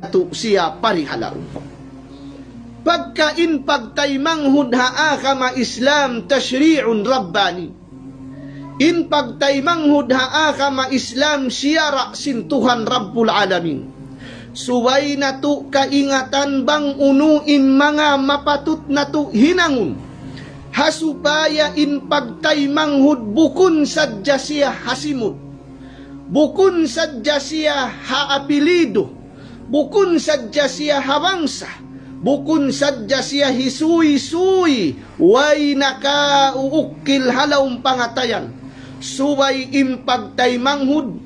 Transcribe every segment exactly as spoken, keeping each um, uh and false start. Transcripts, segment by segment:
natu' siya parihalaun. Pagka in pagtaymanghud ha agama Islam tashri'un rabbani. In pagtaymanghud ha agama Islam siyara' sin Tuhan Rabbul Alamin. Subay natu' kaingatan bang unu in manga mapatut natu' hinangun. Ha supaya in pagtaymanghud bukun sadja siya ha simud. Bukun sadja siya ha apilidu. Bukun sadja siya ha bangsa, bukun sadja siya hisuy-suy, way nakauukil ha lawm pangatayan. Subay in pagtaymanghud,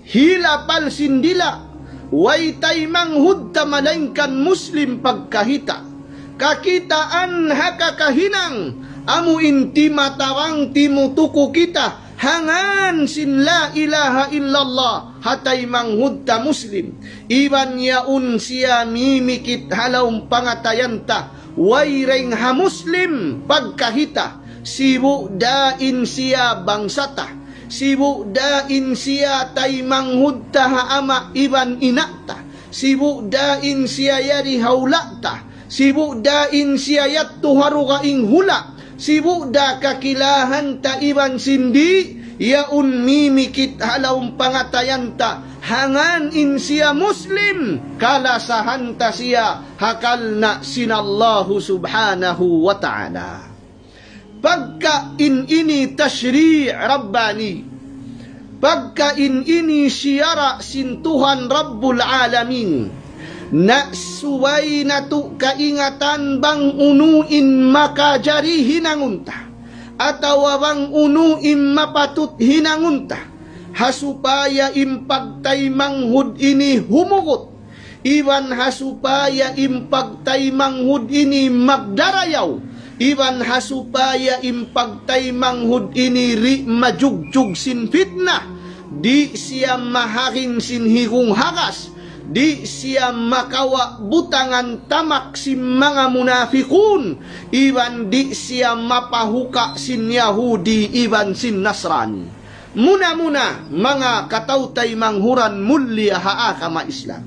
hilapal sin dila', way taymanghud ta malaingkan Muslim pagkahita'. Kakitaan ha kakahinang, amu in timatarang timutuku kita, ha ngan sin la ilaha illallah, ha taymanghud ta Muslim. Iban yaun siya mimikit ha lawm pangatayan ta, way dayng ha Muslim pagkahita', sibu' da in siya bangsa ta, sibu' da in siya taymanghud ta ha ama' iban ina' ta, sibu' da in siya yari ha hula' ta, sibu' da in siya yadtu ha dugaing hula', sibu' da kakilahan ta iban sin di', yaun mimikit ha lawm pangatayan ta, ha ngan in siya Muslim, kalasahan ta siya ha karna' sin Allahu Subhanahu wa Ta'ala. Pagka in ini tashri' rabbani, pagka in ini siyara' sin Tuhan Rabbul Alamin, na subay natu' kaingatan bang unu in makajari hinangun ta, atawa bang unu in mapatut hinangun ta, ha supaya in pagtaymanghud ini humugut, iban ha supaya in pagtaymanghud ini magdarayaw, iban ha supaya in pagtaymanghud ini di' majugjug sin fitna, di' siya maharing sin higung hagas, di' siya makawa' butangan tamak sin manga munafikun, iban di' siya mapahuka' sin Yahudi iban sin Nasrani. Muna-muna, manga kataw-taymanghuran mulia ha agama Islam.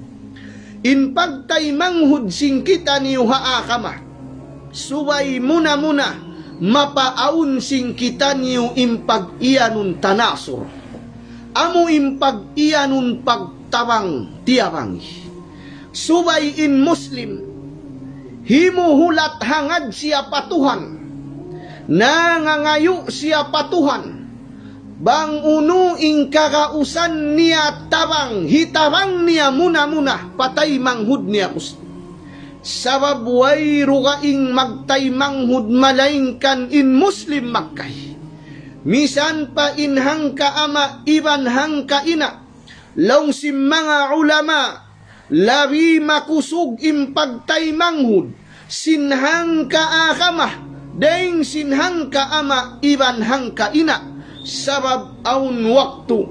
In pagtaymanghud sin kitaniyu ha agama, subay muna-muna, mapaawn sin kitaniyu in pag-iyanun tanasur. Amu in pag-iyanun pagtabang-tiyabangi. Subay in Muslim, himuhulat hangad siya pa Tuhan, nangangayu' siya pa Tuhan, bang unu in kagausan niya tabang, hitabang niya muna-muna pa taymanghud niya Muslim. Sabab way dugaing magtaymanghud malaingkan in Muslim magkahi. Misan pa in hangka ama' iban hangka ina', laung sin manga ulama, labi makusug in pagtaymanghud sin hangka agama, dayng sin hangka ama' iban hangka ina'. Sabab awn waktu,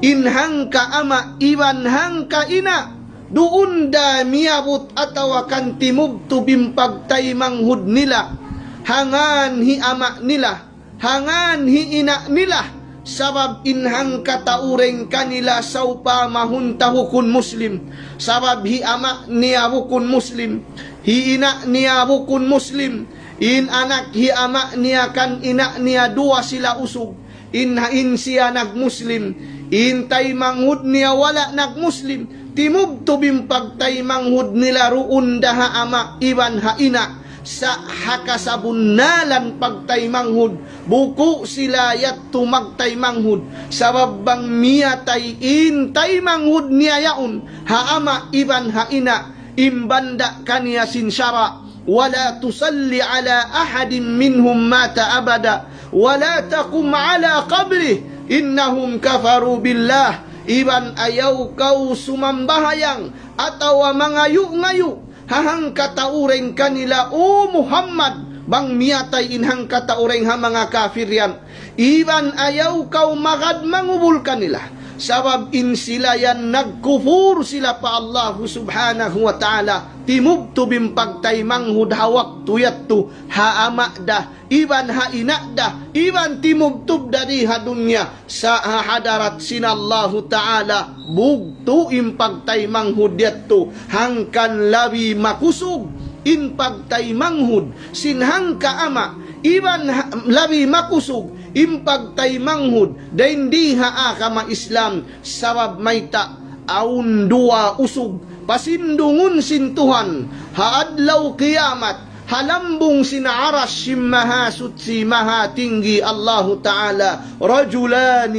in hangka ama' iban hangka ina', duun da miyabut atawa kan timubtub in pagtaymanghud nila, ha ngan hi ama' nila, ha ngan hi ina' nila, sabab in hangkatau dayng kanila sawpama hunta bukun Muslim, sabab hi ama' niya bukun Muslim, hi ina' niya bukun Muslim, in anak hi ama' niya kan ina' niya duwa sila usug, in, in siya nag-Muslim, in taymanghud niya wala' nag-Muslim, timubtub in pagtaymanghud nila duun da ha ama' iban ha ina', sa' ha kasabunnalan pagtaymanghud, buku' sila yadtu magtaymanghud, sabab bang miyatay in taymanghud niya yaun, ha ama' iban ha ina', in banda' kaniya sin sara', ولا تصل على أحد منهم مات أبدا ولا تقم على قبره إنهم كفروا بالله. Iban ayaw kaw sumambahayang atawa mangayu'-ngayu' ha hangkatau dayng kanila, O Muhammad, bang miyatay in hangkatau dayng ha manga kapir yan. Iban ayaw kaw magad mangubul kanila. Sabab in sila yan nagkupur sila pa Allahu Subhanahu wa Ta'ala, timubtub in pagtaymanghud ha waktu yadtu, ha ama' da, iban ha ina' da, iban timubtub da di ha dunya, sa' ha hadarat sin Allahu Ta'ala, bugtu' in pagtaymanghud yadtu, hangkan labi makusug in pagtaymanghud sin hangka ama', iban ha-, labi makusug in pagtaymanghud dayn di ha agama Islam, sabab mayta', awn duwa usug pasindungun sin Tuhan ha adlaw kiyamat, ha lambung sin Arash sin Mahasuchi Mahatinggi Allahu Ta'ala, رجلان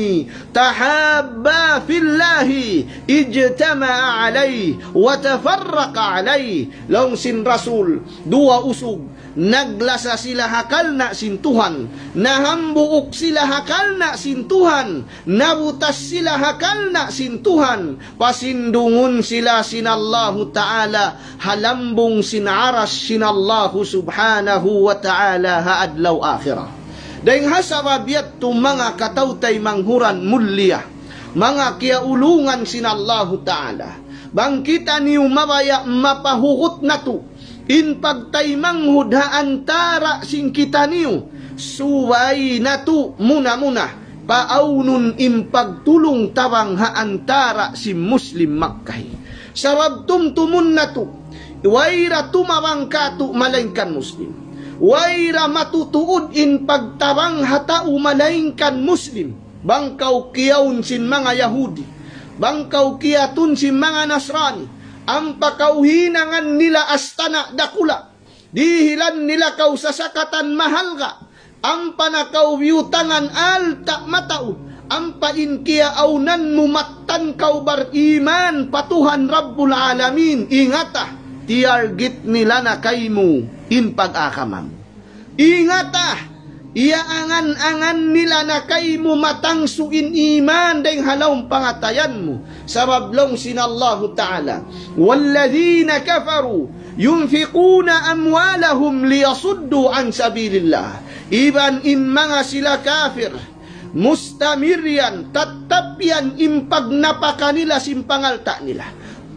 تحابا في الله اجتمعا عليه وتفرقا عليه. Laung sin Rasul, duwa usug, naglasa sila ha kalna' sin Tuhan, nahambuuk sila ha kalna' sin Tuhan, nabutas sila ha kalna' sin Tuhan, pasindungun sila sin Allahu Ta'ala ha lambung sin Arash sin Allahu Subhanahu wa Ta'ala ha adlaw akhirat. Dayng ha sabab yadtu, manga kataw-taymanghuran mulia, manga kiyaulungan sin Allahu Ta'ala, bang kitaniyu mabaya' mapahugut natu' in pagtaymanghud ha antara' sin kitaniyu, subay natu' muna-muna paawnun in pagtulung-tabang ha antara' sin Muslim magkahi. Sabab tumtumun natu', wayra tumabang kātu' malaingkan Muslim. Wayra matutuud in pagtabang ha tau malaingkan Muslim. Bang kaw kiyaun sin manga Yahudi, bang kaw kiyatun sin manga Nasrani, ampa kaw hinangan nila astana' dakula', dihilan nila kaw sasakatan mahalga', ampa na kaw biyutangan alta' mataud, ampa in kiyaawnan mu mattan kaw bariman pa Tuhan Rabbul Alamin, ingata, tiyargit nila na kaymu in pag-agama mu. Ingata, iyaangan-angan nila na kaymu matangsu in iman dayng ha lawm pangatayan mu. Sabab laung sin Allahu Ta'ala, والذين كفروا ينفقون أموالهم ليصدوا عن سبيل الله. Iban in manga sila kafir, mustamir yan, tattap yan in pagnapaka nila sin pangalta' nila.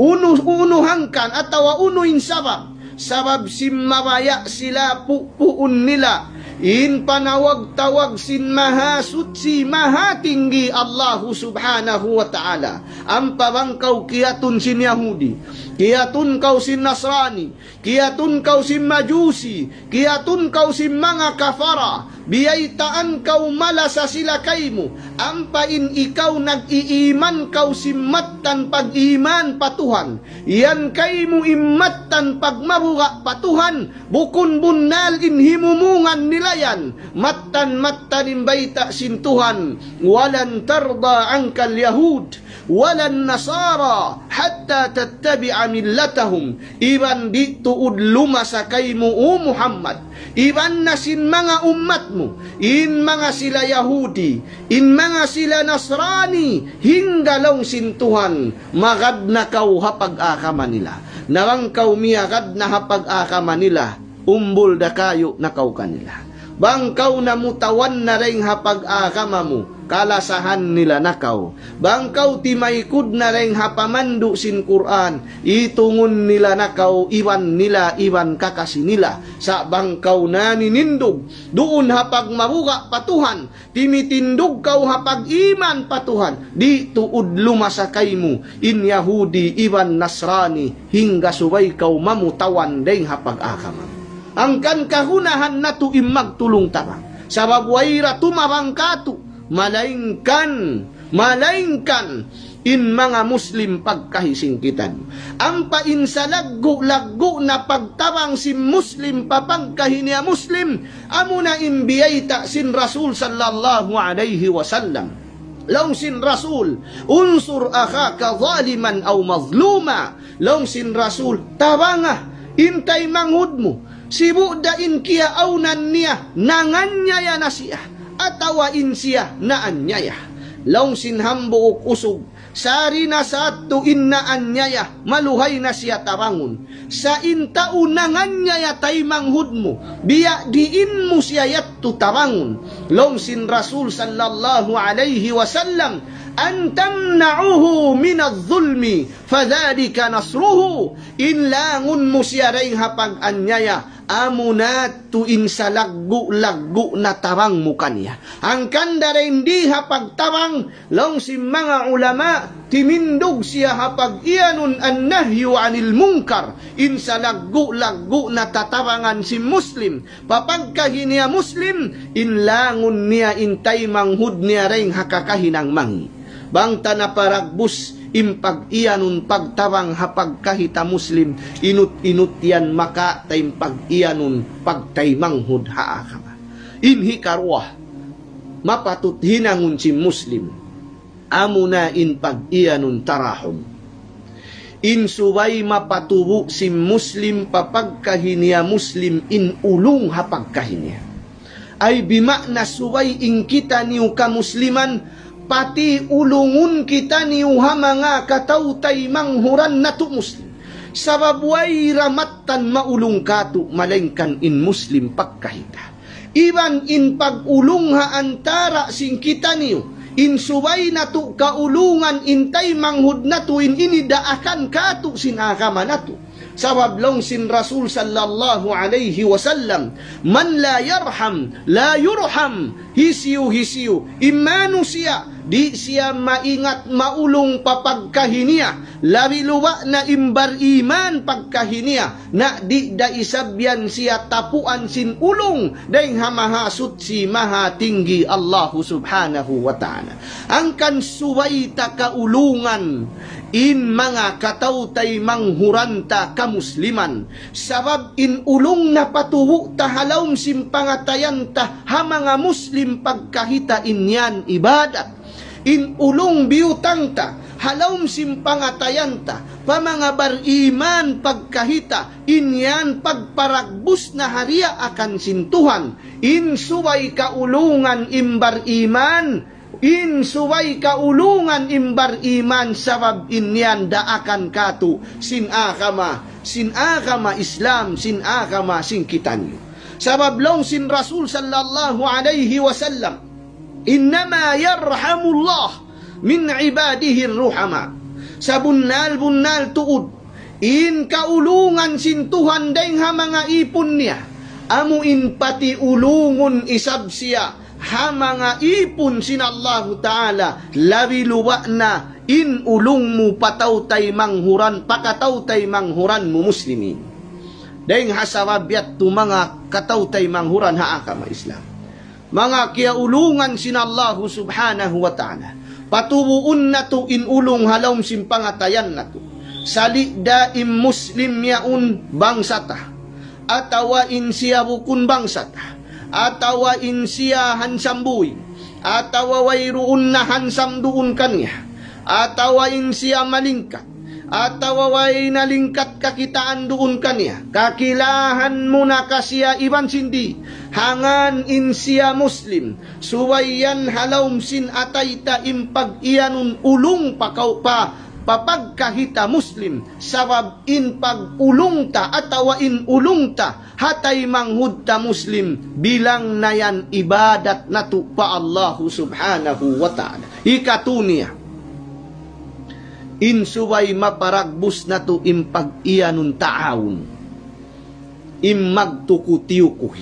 Unu, unu hangkan atawa unu in sabab? Sabab sin mabaya' sila pupuun nila in panawag-tawag sin Mahasuchi, Mahatinggi Allahu Subhanahu wa Ta'ala. Ampa bang kaw kiyatun sin Yahudi, kiyatun kaw sin Nasrani, kiyatun kaw sin Majusi, kiyatun kaw sin manga kafara, biyaytaan kaw malasa sila kaymu, ampa in ikaw nag-iiman kaw sin mattan pag-iman pa Tuhan, yan kaymu in mattan pagmabuga' pa Tuhan, bukun bunnal in himumungan nila yan, mattan-mattan in bayta' sin Tuhan, ولن ترضى عنك اليهود ولا النصارى حتى تتبع ملتهم. Iban di' tuud lumasa kaymu, O Muhammad, iban na sin manga ummat mu, in manga sila Yahudi, in manga sila Nasrani, hangga laung sin Tuhan, magad na kaw ha pag-agama nila. Na bang kaw miyagad na ha pag-agama nila, umbul da kayu' na kaw kanila. Bang kaw namutawan na dayng ha pag-agama mu, kalasahan nila na kaw. Bang kaw timaykud na dayng ha pamandu' sin Qur'an, itungun nila na kaw iban nila, iban kakasi nila. Sa' bang kaw naninindug duun ha pagmabuga' pa Tuhan, timitindug kaw ha pag-iman pa Tuhan, di' tuud lumasa kaymu in Yahudi iban Nasrani, hangga subay kaw mamutawan dayng ha pag-agama. Hangkan kagunahan natu' in magtulung-tabang. Sabab wayra tumabang kātu', malaingkan, malaingkan in manga Muslim pagkahi sin kitaniyu. Ampa in salaggu'-laggu' na pagtabang sin Muslim pa pagkahi niya Muslim, amuna in biyayta' sin Rasul sallallahu alayhi wasallam. Laung sin Rasul, انصر أخاك ظالما أو مظلوما. Laung sin Rasul, tabanga in taymanghud mu, sibu' da in kiyaawnan niya, nanganyaya na siya, atawa in siya naanyaya. Laung sin hambuuk usug, sari na sa yadtu in naanyaya, maluhay na siya tabangun. Sa' in tau nanganyaya taymanghud mu, biya' diin mu siya yadtu tabangun. Laung sin Rasul sallallahu alayhi wasallam, أن تمنعه من الظلم فذلك نصره. In langun mu siya dayn ha pag-anyaya, amuna tuud in salaggu'-laggu' na tabang mu kaniya. Hangkan dayn di ha pagtabang, laung sin manga ulama, timindug siya ha pag-iyanun النهي عن المنكر, in salaggu'-laggu' na tatabangan sin Muslim, pa pagkahi niya Muslim, in langun niya in taymanghud niya dayn ha kakahinang mangi'. Bang ta naparagbus in pag-iyanun pagtabang ha pagkahi ta Muslim, inut-inut yan makawa' ta in pag-iyanun pagtaymanghud ha agama. In hikaruwa, mapatut hinangun sin Muslim, amuna in pag-iyanun tarahum. In subay mapatubu' sin Muslim pa pagkahi niya Muslim in ulung ha pagkahi niya. Ay bima'na subay in kitaniyu kamusliman, pati ulungun kitaniyu ha manga kataw-taymanghuran natu' Muslim. Sabab way da mattan maulung kātu' malaingkan in Muslim pagkahi ta. Iban in pag-ulung ha antara' sin kitaniyu, in subay natu' kaulungan in taymanghud natu' in ini daakan kātu' sin agama natu'. Sabab laung sin Rasul sallallahu alayhi wasallam, من لا يرحم لا يرحم. Hisiyu-hisiyu in manusiya' di' siya maingat maulung pa pagkahi niya, labi-labi na in bar-iman pagkahi niya, na di' da isab yan siya tapuan sin ulung dayn ha Mahasuchi Mahatinggi Allahu Subhanahu wa Ta'ala. Hangkan subay ta kaulungan in manga kataw-taymanghuran ta kamusliman. Sabab in ulung napatubu' ta ha lawm sin pangatayan ta ha manga Muslim pagkahi ta, in yan ibadat. In ulung biyutang ta ha lawm sin pangatayan ta pa manga bar-iman pagkahi ta, in yan pagparagbus na ha diyaakan sin Tuhan. In subay kaulungan in bar-iman, in subay kaulungan in bar-iman, sabab in yan daakan kātu' sin agama, sin agama Islam, sin agama sin kitaniyu. Sabab laung sin Rasul sallallahu alayhi wasallam, إنما يرحم الله من عباده الرحماء. Sabunnal-bunnal tuud, in kaulungan sin Tuhan dayn ha manga īpun niya, amu in patiulungun isab siya ha manga īpun sin Allahu Ta'ala, labi-labi na in ulung mu pa kataw-taymanghuran, pa kataw-taymanghuran mu Muslimin. Dayn ha sabab yadtu manga kataw-taymanghuran ha agama Islam, manga kiyaulungan sin Allahu Subhanahu wa Ta'ala, patubuun natu' in ulung ha lawm sin pangatayan natu'. Sali' da in Muslim yaun bangsa ta, atawa in siya bukun bangsa ta, atawa in siya handsome boy, atawa wayruun na handsome duun kaniya, atawa in siya malingkat, atawa way na lingkat kakitaan duun kaniya. Kakilahan mu na ka siya iban sin di', hangkan in siya Muslim, subay yan ha lawm sin atay ta in pag-iyanun ulung pa kaw-, pa, pa pagkahi ta Muslim, sabab in pag-ulung ta atawa in ulung ta ha taymanghud ta Muslim, bilang na yan ibadat natu' pa Allahu Subhanahu wa Ta'ala. Hikatu niya, in subay maparagbus natu' in pag-iyanun ta'awun, in magtuku-tiyukuhi.